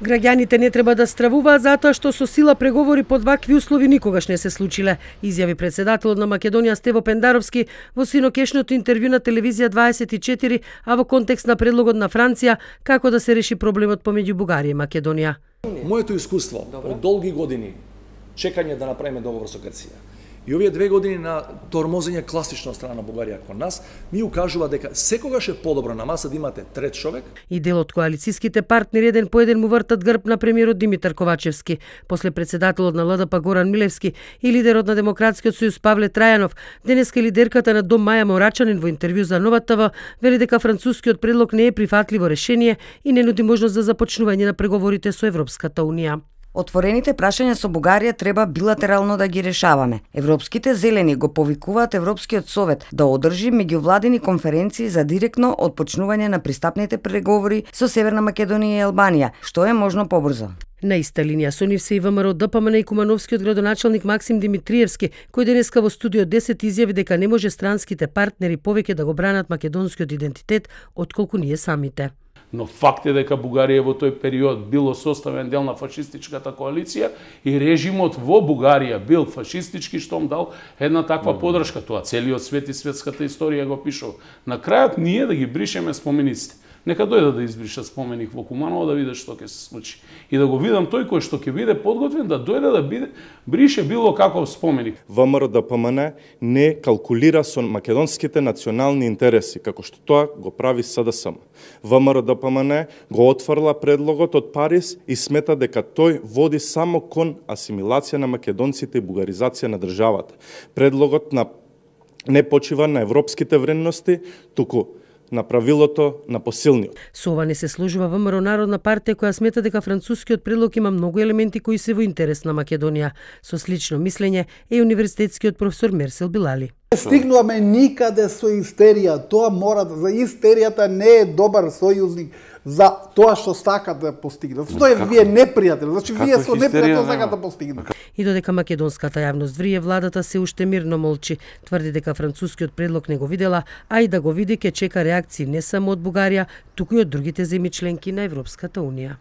Граѓаните не треба да стравуваат затоа што со сила преговори под вакви услови никогаш не се случиле, изјави претседателот на Македонија Стево Пендаровски во синокешното интервју на телевизија 24, а во контекст на предлогот на Франција како да се реши проблемот помеѓу Бугарија и Македонија. Моето искуство од долги години чекање да направиме договор со Грција и овие 2 години на тормозење класично од страна на Бугарија кон нас ми укажува дека секогаш е подобро на маса да имате трет човек. И дел од коалицијските партнери еден по еден му вртат грб на премиерот Димитар Ковачевски, после председателот на ЛДП Горан Милевски и лидерот на Демократскиот сојуз Павле Трајанов. Денеска лидерката на Дом Маја Морачанин во интервју за Нова ТВ вели дека францускиот предлог не е прифатливо решение и не нуди можност за започнување на преговорите со Европската унија. Отворените прашања со Бугарија треба билатерално да ги решаваме. Европските зелени го повикуваат Европскиот совет да одржи меѓувладини конференции за директно отпочнување на пристапните преговори со Северна Македонија и Албанија, што е можно побрзо. На иста линија со нив се и ВМРО ДПМН и Кумановскиот градоначалник Максим Димитриевски, кој денеска во студио 10 изјави дека не може странските партнери повеќе да го бранат македонскиот идентитет отколку ние самите. Но факт е дека Бугарија во тој период било составен дел на фашистичката коалиција и режимот во Бугарија бил фашистички, штом дал една таква подршка. Тоа целиот свет и светската историја го пишува. На крајот ние да ги бришеме спомениците. Нека дојдат да избришат споменик во Куманово да видат што ќе се случи. И да го видам тој кој што ќе биде подготвен да дојде да брише било каков споменик. ВМРО ДПМН не калкулира со македонските национални интереси, како што тоа го прави СДСМ. ВМРО ДПМН го отфрла предлогот од Париз и смета дека тој води само кон асимилација на македонците и бугаризација на државата. Предлогот не почива на европските вредности, туку на правилото на посилниот. Со ова не се сложува ВМРО Народна партија, која смета дека францускиот предлог има многу елементи кои се во интерес на Македонија. Со слично мислење е универзитетскиот професор Мерсел Билали. Стигнуваме никаде со истерија. Тоа мора за истеријата не е добар сојузник за тоа што сакат да постигнат. Тоа е вие непријатели. Значи вие со непријател сакат да постигнат. И додека македонската јавност врие, владата се уште мирно молчи. Тврди дека францускиот предлог не го видела, а и да го види ќе чека реакции не само од Бугарија, туку и од другите земји членки на Европската унија.